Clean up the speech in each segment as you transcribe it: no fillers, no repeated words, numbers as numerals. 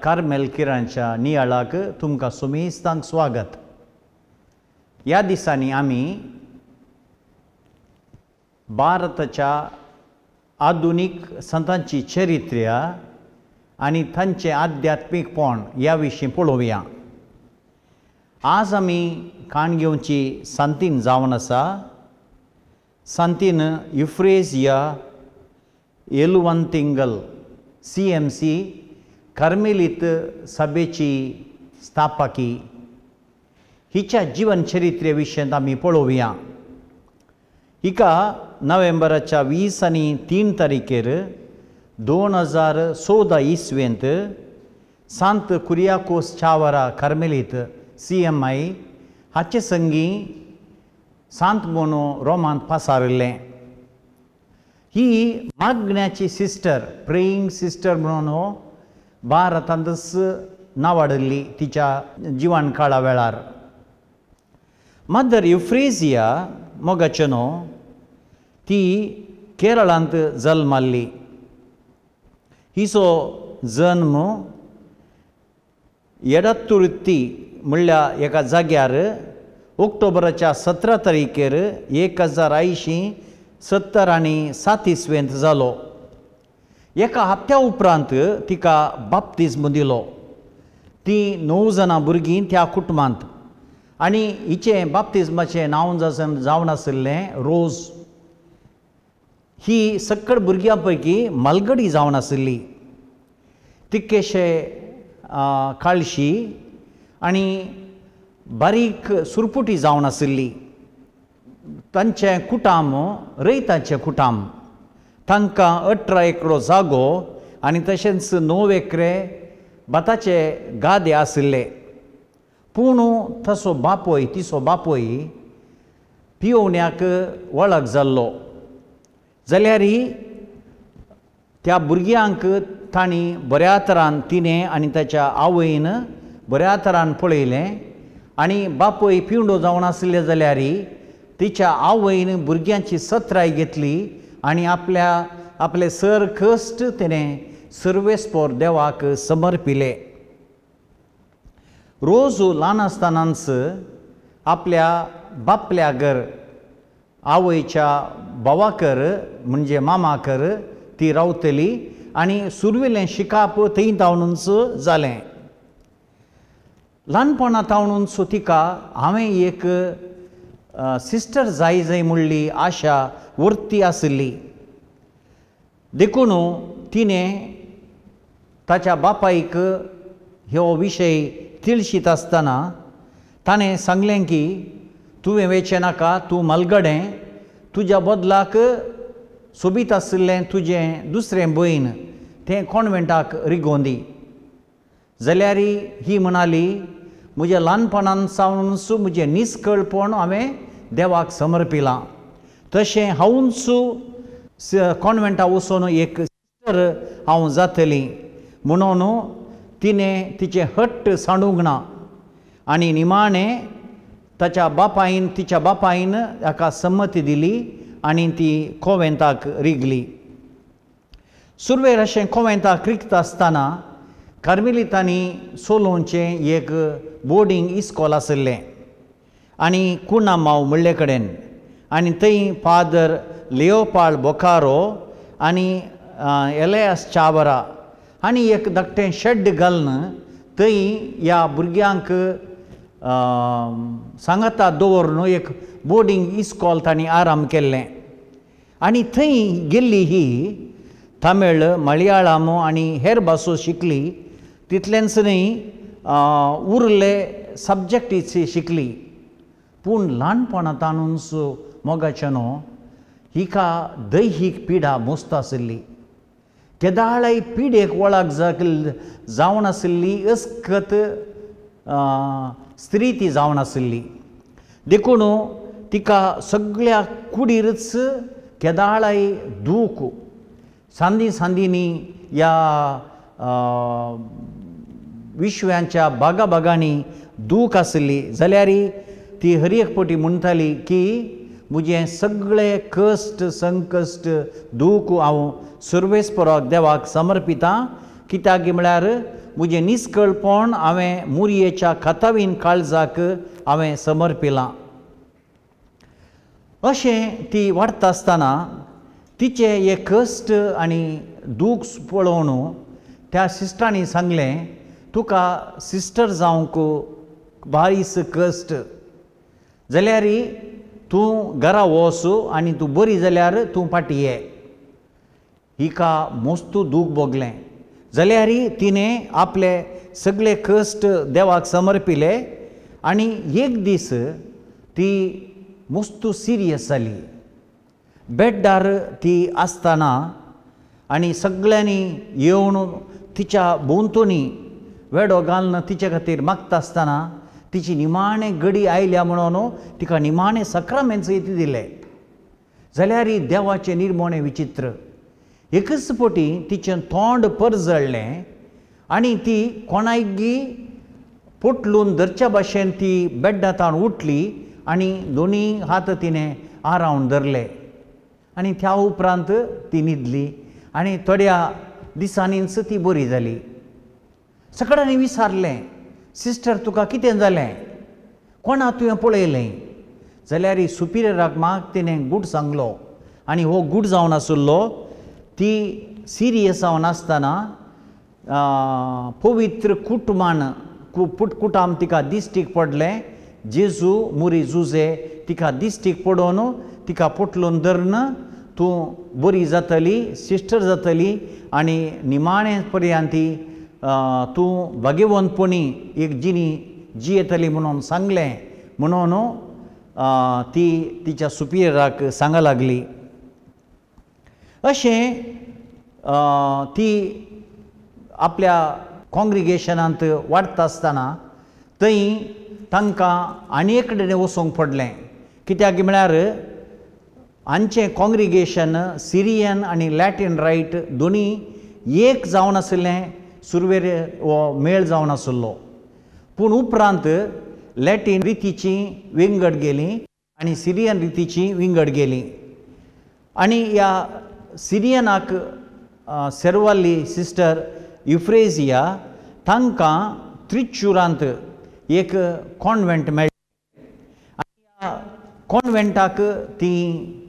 Carmel किरांच्या नियाळाक तुमकां सुमेस्तांक स्वागत. ह्या दिसांनी आमी भारताच्या आधुनीक संतांची चरित्र्या आनी तांचें आध्यात्मीकपण ह्या विशीं पळोवया. आज आमी काण घेवची सांतीन जावन आसा. सांतीन युफ्रेजिया एलुवंतिंगल CMC कार्मेलीत सभेची स्थापकी हिच्या जीवन चरित्रे विशयांत आमी पळोवया. हिका नोव्हेंबराच्या 20 आनी 3 तारखेर 2014 इसवेंत सांत कुरियाकोस चावरा कार्मेलीत CMI हाचे संगी सांत म्हणून रोमांत पासारिल्लें. ही मागण्याची सिस्टर, प्रेईंग सिस्टर म्हणून भारतांतच नावाडली तिच्या जिवन काळा वेळार. मदर युफ्रेजिया मोगाचें न्हू ती केरळांत जल्माल्ली. हिचो जन्म एडातुर्ती म्हणल्या एका जाग्यार ऑक्टोबराच्या 17 तारखेर 1870 आनी 7 इसवेंत जालो. एका हप्त्या उपरांत तिका बाप्तिज्म दिलो. ती 9 जाणां भुरगीं त्या कुटुंबांत आनी हिचें बाप्तिज्माचें नांव जावन आशिल्लें रोज. ही सकळ भुरग्यां पैकी मालगडी जावन आशिल्ली. तिक्केशे काळशी आनी बारीक सुरपुटी जावन आशिल्ली. तांचें कुटाम रयताचें कुटाम. तांकां 18 एकरो जागो आनी तशेंच 9 एकरे भाताचे गादे आशिल्ले. पूण तसो बापोय तिचो बापोय पियोवण्याक वळख जाल्लो. जाल्यार त्या भुरग्यांक तांणी बऱ्या तरान तिणें आनी ताच्या आवयन बऱ्या तरान पळयलें आनी बापोय पिवंडो जावन आशिल्ले जाल्यार तिच्या आवयन भुरग्यांची सत्राय घेतली आनी आपल्या आपले सर कश्ट तिणें सर्वेस्पोर देवाक समर्पिले. रोज ल्हान आसतनाच आपल्या बापल्यागर आवयच्या भावाकर म्हणजे मामाकर ती रावतली आनी सुरवेलें शिकाप थंय तावनूच जालें. ल्हानपणा तावनूच तिका हांवें एक सिस्टर जाय जाय म्हणली आशा वर्ती आशिल्ली. देखून तिणें ताच्या बापायक हो विशय तिळशीत आसतना ताणें सांगलें की तुवें वेचें नाका, तूं मलगडें, तुज्या बदलाक सोबीत आशिल्लें तुजें दुसरें भयण तें कॉन्वेंटाक रिगोंदी. जाल्यार ही म्हणाली म्हज्या ल्हानपणान सावनूच म्हजें निस्कळपण हांवें देवाक समर्पिलां, तशें हांवूच कॉन्वेंटा वचून एक सिस्टर हांव जातली म्हणून तिणें तिचें हट्ट सांडूंक ना. आनी निमाणें ताच्या बापायन तिच्या बापायन ताका संमती दिली आनी ती कोवेंताक रिगली. सुरवेर अशें कोवेंताक रिगता आसतना कार्मेलितांनी सोलोवचें एक बोर्डींग इस्कॉल आशिल्लें आनी कुणामाव म्हणले कडेन आनी थंय फादर लियोपाळ बोकारो आनी एलयास चावरा आनी एक धाकटें शेड घालून थंय ह्या भुरग्यांक सांगाता दवरून एक बोर्डींग इस्कॉल तांणी आराम केल्लें. आनी थंय गेल्ली ही तमिळ, मलयाळम आनी हेर भासो शिकली. तितलेंच न्हय उरले सब्जॅक्टीची शिकली. पूण ल्हानपणांतूच मोगाचें न्हू हिका दैहीक पिडा मस्त आशिल्ली. केदाळाय पिडेक वळख जावन आशिल्ली अस्कत स्त्री ती जावन आशिल्ली. देखून तिका सगळ्या कुडीरच केदाळाय दूख सांदी सांदींनी ह्या विश्वांच्या बागा बागांनी दूख आशिल्ली. जाल्यार ती हर एक पटी म्हणटाली की म्हजें सगळे कश्ट संकश्ट दूख हांव सर्वेस्पराक देवाक समर्पितां, कित्याक म्हळ्यार म्हजें निस्कळपण हांवें मुरयेच्या खातावीन काळजाक हांवें समर्पिलां. अशें ती वाडटा आसतना तिचें हे कश्ट आनी दूख पळोवन त्या सिस्टरांनी सांगलें, तुका सिस्टर जावंक बारीस कश्ट, जाल्यार तूं घरा वच आनी तूं बरी जाल्यार तूं फाटीं ये. हिका मस्तू दूख भोगलें, जाल्यार तिणें आपले सगळे कश्ट देवाक समर्पिले आनी एक दीस ती मस्तू सिरियस जाली. बेड्डार ती आसतना आनी सगळ्यांनी येवन तिच्या भोंवतणी वेडो घालून तिचे खातीर मागता आसतना तिची निमाणे गडी आयल्या म्हणून तिका निमाणे सक्रामेंत ती दिले. जाल्यार देवाचें निर्मोणें विचित्र, एकच पटी तिचें तोंड परजळ्ळें आनी ती कोणायगी पोटलून धरच्या भाशेन ती बेड्डांत उठली आनी दोनी हात तिणें आरावन धरले आनी त्या उपरांत ती न्हिदली आनी थोड्या दिसांनीच ती बरी जाली. सगळ्यांनी विचारलें, सिस्टर तुका कितें जालें, कोणा तुवें पळयलें? जाल्यार सुपिरियराक म्हाका तिणें गूट सांगलो आनी हो गूट जावन आशिल्लो ती सिरियस जावन आसतना पवित्र कुटुंबान कुटाम तिका दिश्टीक पडलें. जेजू मुरी जुजे तिका दिश्टीक पडोवन तिका पोटलून धरून तूं बरी जातली, सिस्टर जातली आनी निमाणे पर्यंत ती तूं भाग्यवंतपणी एक जिणी जियेतली म्हणून सांगलें. म्हणून ती तिच्या सुपिरियराक सांगा लागली. अशें ती आपल्या कॉंग्रिगेशनांत वाडटा आसतना थंय तांकां आनी एक कडेन वचूंक पडलें. कित्याक म्हळ्यार हांचें कॉंग्रिगेशन सिरियन आनी लॅटीन रायट दोनी एक जावन आशिल्लें, सुरवेर हो मेळ जावन आशिल्लो. पूण उपरांत लॅटीन रितीची विंगड गेली आनी सिरियन रितीची विंगड गेली आनी ह्या सिरियनाक सेर्वाली सिस्टर युफ्रेजिया तांकां त्रिचुरांत एक कॉन्वेंट मेळ्ळें आनी ह्या कॉन्वेंटाक ती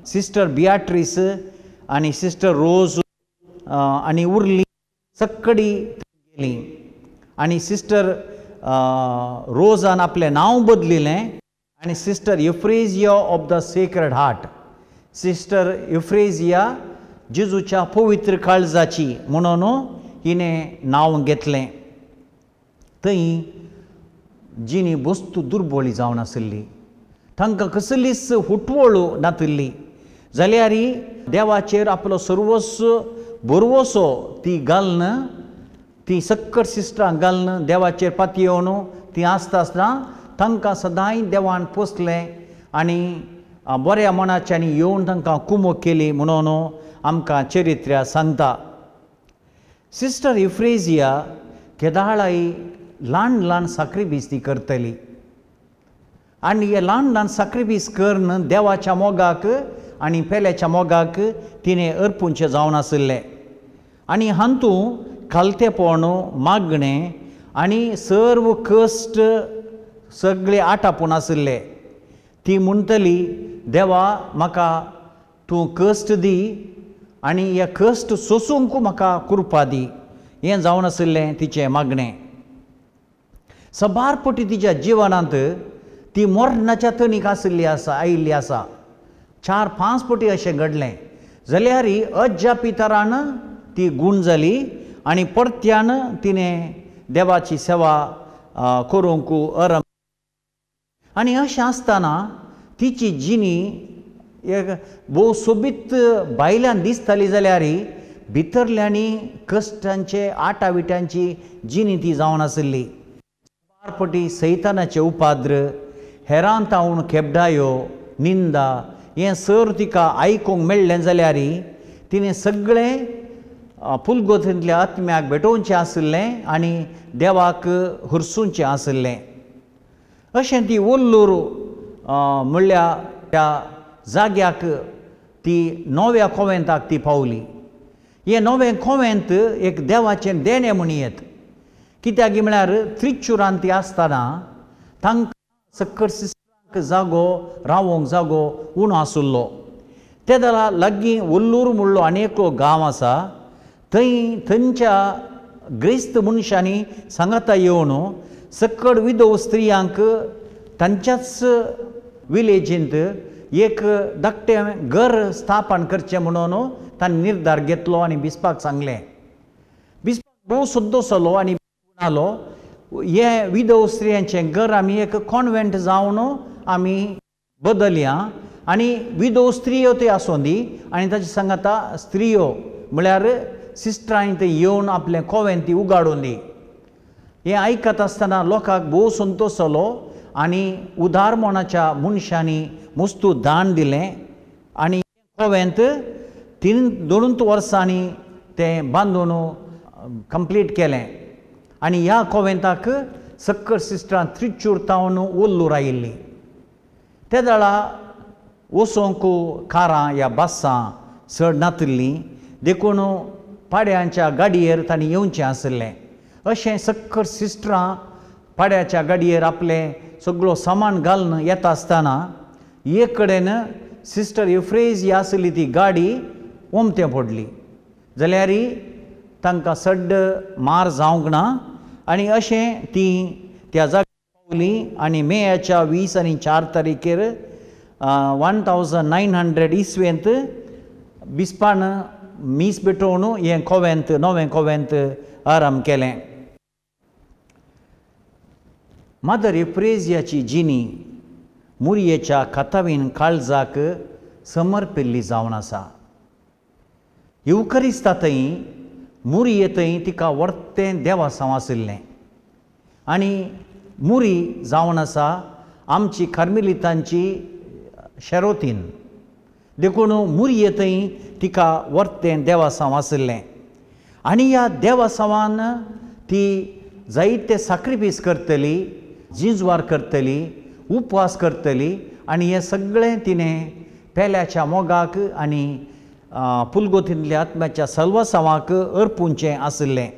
सिस्टर बियाट्रीस आनी सिस्टर रोज आनी उरली सक्कडी गेली आनी सिस्टर रोजान आपलें नांव बदलिलें आनी sister Euphrasia of the sacred heart, sister Euphrasia जेजूच्या पवित्र काळजाची म्हणून हिणें नांव घेतलें. थंय जिणी वस्तू दुर्बोळी जावन आशिल्ली, तांकां कसलीच हुटवळ नातिल्ली, जाल्यार देवाचेर आपलो सर्वस्व भरवसो ती घालून ती सक्कड सिस्टरां घालून देवाचेर पातयेवन ती आसता आसतना तांकां सदांय देवान पोसलें आनी बऱ्या मनाच्यानी येवन तांकां कुमक केली म्हणून आमकां चरित्र्या सांगता. सिस्टर युफ्रेजिया केदाळाय ल्हान ल्हान साक्रिफीस ती करतली आनी हे ल्हान ल्हान साक्रिफीस करून देवाच्या मोगाक आनी पेल्याच्या मोगाक तिणें अर्पुंचें जावन आशिल्लें आनी हातूंत खालतेपण, मागणें आनी सर्व कश्ट सगळे आटापून आशिल्ले. ती म्हणटली, देवा म्हाका तूं कश्ट दी आनी हे कश्ट सोसूंक म्हाका कृपा दी, हें जावन आशिल्लें तिचें मागणें. सबार पटी तिच्या जिवनांत ती मरणाच्या तणीक आशिल्ली आसा, आयिल्ली आसा. 4-5 पटी अशें घडलें, जाल्यार अजापितरान ती गूण जाली आनी परत्यान तिणें देवाची सेवा करूंक आरंभ. आनी अशें आसतना तिची जिणी एक भोव सोबीत भायल्यान दिसताली, जाल्यार भितरल्यांनी कश्टांचे आटाविट्यांची जिणी ती जावन आशिल्ली. बारपटी सैतानाचे उपाद्र, हेरान तावन खेपडायो, निंदा हें सर तिका आयकूंक मेळ्ळें जाल्यार तिणें सगळें पुलगोतींतल्या आत्म्याक भेटोवचें आशिल्लें आनी देवाक हरसूंचें आशिल्लें. अशें ती वल्लूर म्हणल्या त्या जाग्याक ती नव्या कोवेंताक ती पावली. हें नवें कोवेंत एक देवाचें देणें म्हणयेत. कित्याक म्हळ्यार त्रिचुरांत ती आसतना तांकां सक्कर सिस्टरांक जागो रावोंक जागो उणो आशिल्लो. ते जाल्यार लागीं वल्लूर म्हणलो आनी एकलो गांव आसा, थंय थंयच्या ग्रेस्त मनशांनी सांगाता येवन सकड विधव स्त्रियांक तांच्याच विलेजींत एक धाकटें घर स्थापन करचें म्हणून तांणी निर्धार घेतलो आनी बिस्पाक सांगलें. बिस्पाक भोव संतोश जालो आनी म्हणालो, हें विधव स्त्रियांचें घर आमी एक कॉन्वेंट जावन आमी बदलया आनी विधव स्त्रियो त्यो आसूं दी आनी ताचे सांगाता स्त्रियो म्हळ्यार सिस्टरांनी थंय येवन आपलें कोवेंत ती उगाडून दी. हें आयकत आसतना लोकांक भोव संतोश जालो आनी उदारमणाच्या मनशांनी मस्तू दान दिलें आनी कोवेंत 3-2 वर्सांनी तें बांदून कंप्लीट केलें. आनी ह्या कोवेंताक सक्कर सिस्टरां त्रिचूर तावन वल्लूर आयिल्लीं. ते वेळा वचोंक कारां या बसां चड नातिल्लीं, देखून पाड्यांच्या गाडयेर तांणी येवचें आशिल्लें. अशें सक्कर सिस्टरां पाड्याच्या गाडयेर आपलें सगळो सामान घालून येता आसतना एक कडेन सिस्टर युफ्रेजिया आसली ती गाडी ओमतें पडली, जाल्यार तांकां सड्ड मार जावंक ना आनी अशें ती त्या जाग्यार पावली. आनी मेयाच्या 20 आनी 4 तारीखेर 1900 इसवेंत बिस्पान मीस भेटोवन हें कोवेंत नवें कोवेंत आराम केलें. मदर युफ्रेजियाची जिणी मुरयेच्या खातावीन काळजाक समर्पिल्ली जावन आसा. युवकरिस्ता थंय मुरये थंय तिका वर्तें देवासांव आशिल्लें आनी मुरी जावन आसा आमची कार्मेलितांची शेरोतीन, देखून मुरये थंय तिका वर्तें देवासांव आशिल्लें. आनी ह्या देवासांवान ती जायते साक्रिफीस करतली, जिंजवार करतली, उपवास करतली आनी हें सगळें तिणें पेल्याच्या मोगाक आनी पुलगोतींतल्या आत्म्याच्या सल्वासांवाक अर्पुंचें आशिल्लें.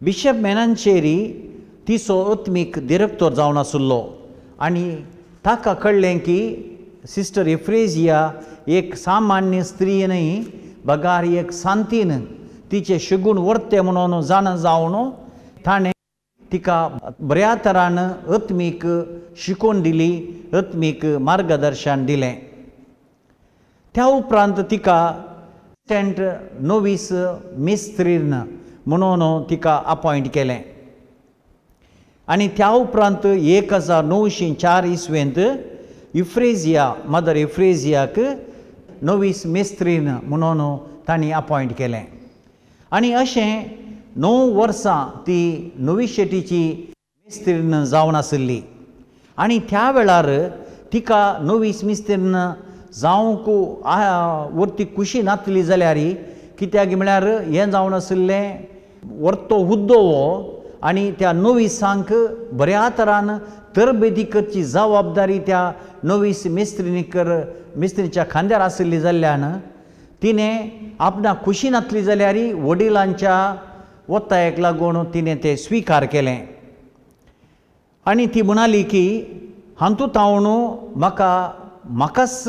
बिशप मेनांचेरी तिचो आत्मीक डिरेक्टर जावन आशिल्लो आनी ताका कळ्ळें की सिस्टर युफ्रेजिया एक सामान्य स्त्री न्हय बगार एक सांतीन तिचे शिगूण वर्ते म्हणून जाणा जावन ताणें तिका बऱ्या तरान आत्मीक शिकोवन दिली, आत्मीक मार्गदर्शन दिलें. त्या उपरांत तिका सेंट नोवीस मिस्त्रीन म्हणून तिका अपॉयंट केलें. आनी त्या उपरांत 1904 इसवेंत युफ्रेजिया मदर युफ्रेजियाक नोवीस मिस्त्रीन म्हणून तांणी अपॉयंट केलें. आनी अशें 9 वर्सां ती नोविशेटीची मिस्त्रीन जावन आशिल्ली. आनी त्या वेळार तिका नोवीस मिस्त्रीन जावंक वरती खुशी नातली जाल्यार कित्याक म्हळ्यार हें जावन आशिल्लें वर्तो हुद्दो हो आनी त्या नोविसांक बऱ्या तरान तरबेदी करची जबाबदारी त्या नोवीस मिस्त्रीच्या खांद्यार आशिल्ली जाल्ल्यान तिणें आपणाक खुशी नातली जाल्यार वडिलांच्या वत्तायेक लागून तिणें तें स्विकार केलें. आनी ती म्हणाली की हातूंत हांव म्हाका म्हाकाच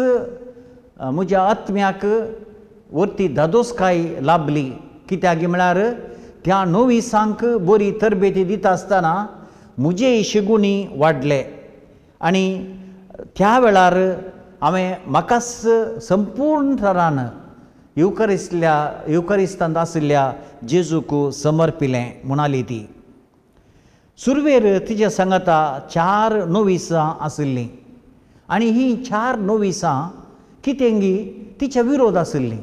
म्हज्या आत्म्याक वरती धादोसकाय लाभली. कित्याक म्हळ्यार त्या नोविसांक बरी तरबेती दिता आसतना म्हजे शिगुणी वाडले आनी त्या वेळार हांवें म्हाकाच संपूर्ण तरान युवकरिस्तांत आशिल्ल्या जेजूक समर्पिलें म्हणाली ती. सुरवेर तिच्या सांगाता 4 नोविसां आशिल्लीं आनी हीं 4 नोविसां कितेंगी तिच्या विरोध आशिल्लीं.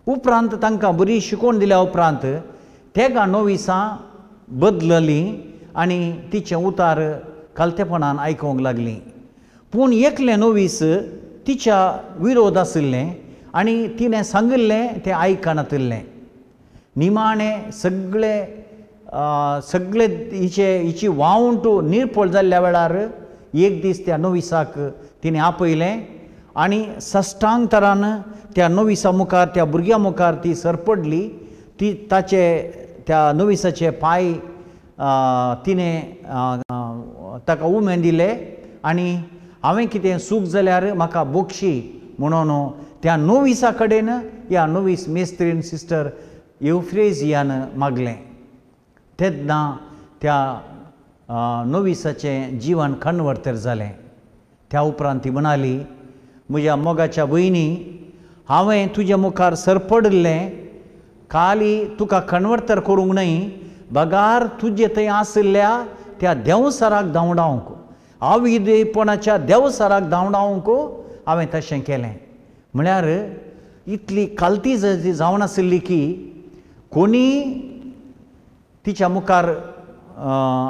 उपरांत तांकां बरी शिकोवन दिल्या उपरांत तेगा नोविसां बदललीं आनी तिचें उतार खालतेपणान आयकूंक लागलीं. पूण एकलें नोवीस तिच्या विरोध आशिल्लें आनी तिणें सांगिल्लें तें आयकनातिल्लें. निमाणें सगळे सगळे हिची वावंट निर्पळ जाल्ल्या वेळार एक दीस त्या नोविसाक तिणें आपयलें आनी सष्टांग तरान त्या नोविसा मुखार, त्या भुरग्यां मुखार ती सरपडली. ती ताचे त्या नोविसाचे पांय तिणें ताका उमेद दिले आनी हांवें कितें चूक जाल्यार म्हाका बोगशी म्हणून त्या नोविसा कडेन ह्या नोवीस मेस्त्रीन सिस्टर युफ्रेजियान मागलें. तेन्ना त्या नोविसाचें जिवन कन्वर्तर जालें. त्या उपरांत ती म्हणाली, म्हज्या मोगाच्या भयणी, हांवें तुज्या मुखार सरपडिल्लें खाली तुका कन्वर्तर करूंक न्हय, बगार तुजे थंय आशिल्ल्या त्या देंवसराक धांवडावंक, आविदेपणाच्या देंवसराक धांवडावंक हांवें तशें केलें. म्हळ्यार इतली कालती जावन आशिल्ली की कोणी तिच्या मुखार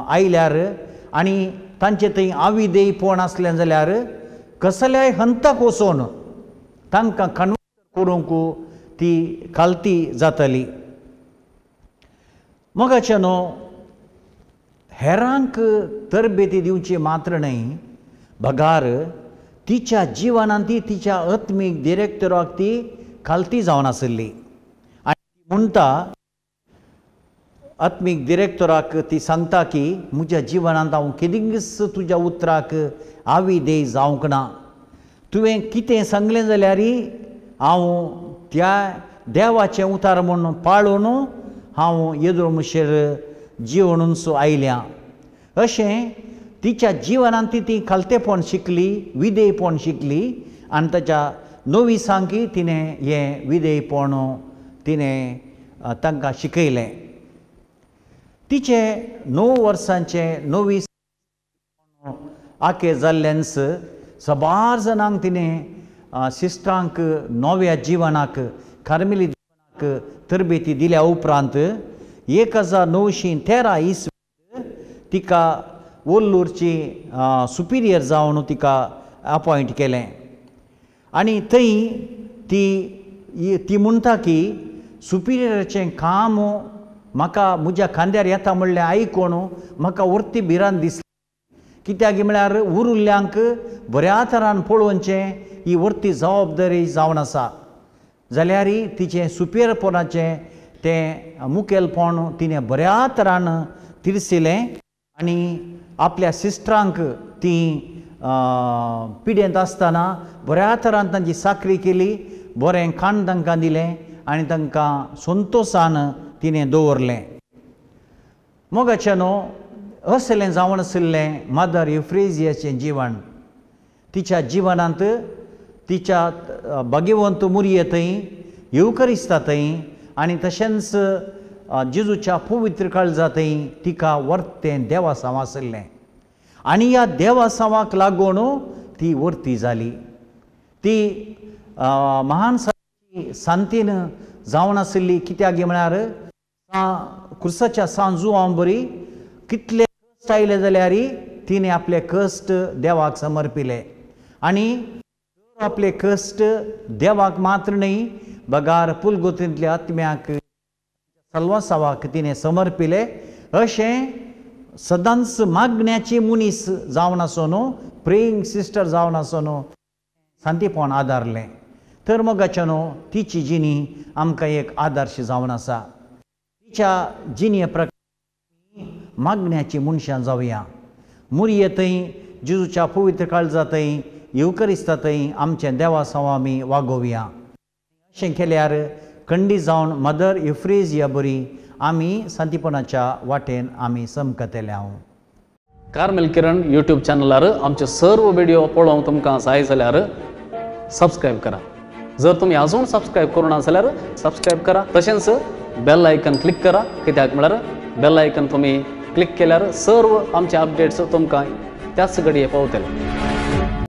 आयल्यार आनी तांचे थंय आविदेयपण आसलें जाल्यार कसल्याय हंताक वचोन तांकां कन्वर्ट करूंक ती कालती जातली. मोगाचे न्हू, हेरांक तरबेती दिवची मात्र न्हय, बगार तिच्या जिवनांत ती तिच्या आत्मीक डिरेक्टराक ती खालती जावन आशिल्ली. आनी म्हणटा आत्मीक डिरेक्टराक ती सांगता की म्हज्या जिवनांत हांव केदींच तुज्या उतराक आविदेय जावंक ना, तुवें कितें सांगलें जाल्यार हांव त्या देवाचें उतार म्हूण पाळून हांव येदोळ मुशेर जिवनूच आयल्या. अशें तिच्या जिवनांत ती खालतेपण शिकली, विधेयपण शिकली आनी ताच्या नोविसांकी तिणें हें विधेयपण तिणें तांकां शिकयलें. तिचें 9 वर्सांचें नोवीस आके जाल्ल्यानच सबार जाणांक तिणें सिस्टरांक नव्या जिवनाक, कार्मेली जिवनाक तरबेती दिल्या उपरांत 1913 इसवींत तिका वल्लूरची सुपिरियर जावन तिका अपॉयंट केलें. आनी थंय ती ती म्हणटा की सुपिरियराचें काम म्हाका म्हज्या खांद्यार येता म्हणलें आयकून म्हाका वर्ती भिरांत दिसली, कित्याक म्हळ्यार उरुल्ल्यांक बऱ्या तरान पळोवचें ही वर्ती जबाबदारी जावन आसा. जाल्यार तिचें सुपिरियरपणाचें तें मुखेलपण तिणें बऱ्या तरान तिरसिलें आनी आपल्या सिस्टरांक ती पिडेंत आसतना बऱ्या तरान तांची साकरी केली, बरें खाण तांकां दिलें आनी तांकां संतोशान तिणें दवरलें. मोगाचें न्हू, असलें जावन आशिल्लें मदर युफ्रेजियाचें जिवन. तिच्या जिवनांत तिच्या भाग्यवंत मुरये थंय, येवकरिस्ता थंय आनी तशेंच जेजूच्या पवित्र काळजा थंय तिका वर्तें देवासांव आशिल्लें आनी ह्या देवासांवाक लागून ती वर्ती जाली. ती महान सांतीन जावन आशिल्ली, कित्याक म्हळ्यार कुर्साच्या सांजुआं बरी कितले कश्ट आयले जाल्यार तिणें आपले कश्ट देवाक समर्पिले आनी आपले कश्ट देवाक मात्र न्हय बगार पुलगोतींतल्या आत्म्याक सल्वासावाक तिणें समर्पिले. अशें सदांच मागण्याची मनीस जावन आसून, प्रेईंग सिस्टर जावन आसून सांतीपण आदारलें. तर मोगाचें न्हू, तिची जिणी आमकां एक आदर्श जावन आसा. तिच्या जिणे प्रकार मागण्याची मनशां जावया. मुरये थंय, जेजूच्या पवित्र काळजा थंय, येवकरिस्ता थंय आमचें देवासांव आमी वागोवया. अशें केल्यार खंडीत जावन मदर युफ्रेजिया बरी आमी सांतीपणाच्या वाटेन आमी समकतले. हांव कार्मेल किरण यूट्यूब चॅनलार आमचे सर्व व्हिडिओ पळोवंक तुमकां जाय जाल्यार सबस्क्रायब करा. जर तुमी अजून सबस्क्रायब करूं ना जाल्यार सबस्क्रायब करा, तशेंच बेल आयकन क्लिक करा. कित्याक म्हळ्यार बेल आयकन तुमी क्लिक केल्यार सर्व आमचे अपडेट्स तुमकां त्याच घडये पावतले.